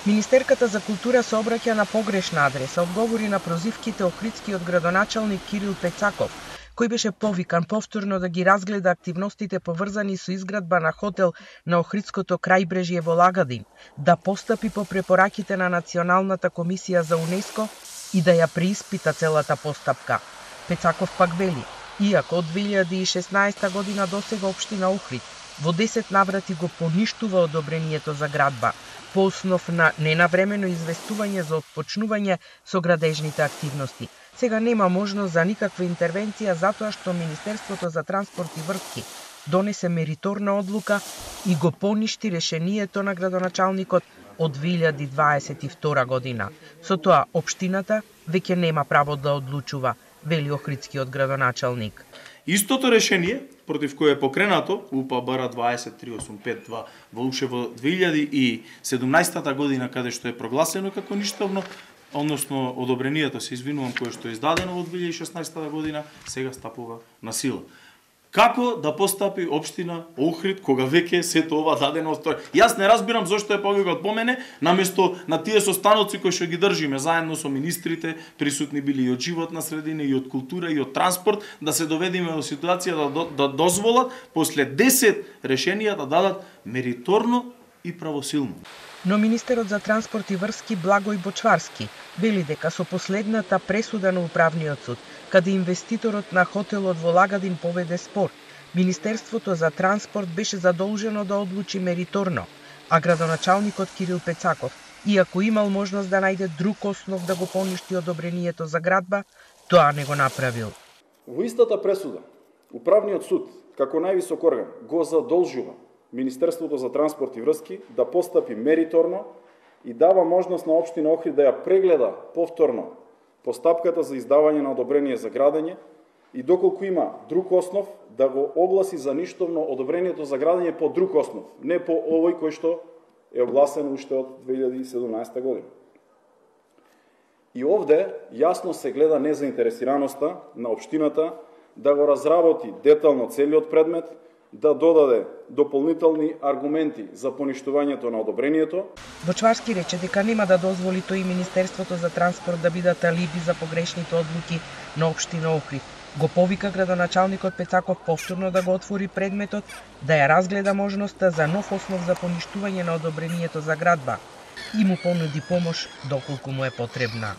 Министерката за култура се обраќа на погрешна адреса, одговори на прозивките охридскиот градоначалник Кирил Пецаков, кој беше повикан повторно да ги разгледа активностите поврзани со изградба на хотел на Охридското крајбрежје во Лагадин, да постапи по препораките на Националната комисија за УНЕСКО и да ја преиспита целата постапка. Пецаков пак вели, иако од 2016 година досега општина Охрид во 10 наврати го поништува одобрението за градба, по основ на ненавремено известување за отпочнување со градежните активности. Сега нема можност за никаква интервенција затоа што Министерството за транспорт и врски донесе мериторна одлука и го поништи решението на градоначалникот од 2022 година. Со тоа општината веќе нема право да одлучува, вели охридскиот градоначалник. Истото решение, против кое е покренато, УПБР 20385-2 во УШ во 2017 година, каде што е прогласено како ништовно, односно одобрението, се извинувам, кое што е издадено во 2016 година, сега стапува на сила. Како да постапи општина Охрид кога веќе сето ова дадено стои? Јас не разбирам зошто е повикат по мене, наместо на тие состаноци кои што ги држиме заедно со министрите, присутни били и од животна средина, и од култура, и од транспорт, да се доведеме во ситуација да дозволат после 10 решенија да дадат мериторно и правосилно. Но министерот за транспорт и врски Благој Бочварски вели дека со последната пресуда на управниот суд, каде инвеститорот на хотелот во Лагадин поведе спор, Министерството за транспорт беше задолжено да одлучи мериторно, а градоначалникот Кирил Пецаков, иако имал можност да најде друг основ да го поништи одобрението за градба, тоа не го направил. Во истата пресуда, управниот суд, како највисок орган, го задолжува Министерството за транспорт и врски да постапи мериторно и дава можност на општина Охрид да ја прегледа повторно постапката за издавање на одобрение за градење и доколку има друг основ да го огласи за ништовно одобрението за градење по друг основ, не по овој кој што е огласен уште од 2017 година. И овде јасно се гледа незаинтересираноста на општината да го разработи детално целиот предмет, да додаде дополнителни аргументи за поништувањето на одобрението. Бочварски рече дека нема да дозволи тој и Министерството за транспорт да бидат алиби за погрешните одлуки на општина Охрид. Го повика градоначалникот Пецаков повторно да го отвори предметот, да ја разгледа можноста за нов основ за поништување на одобрението за градба и му понуди помош доколку му е потребна.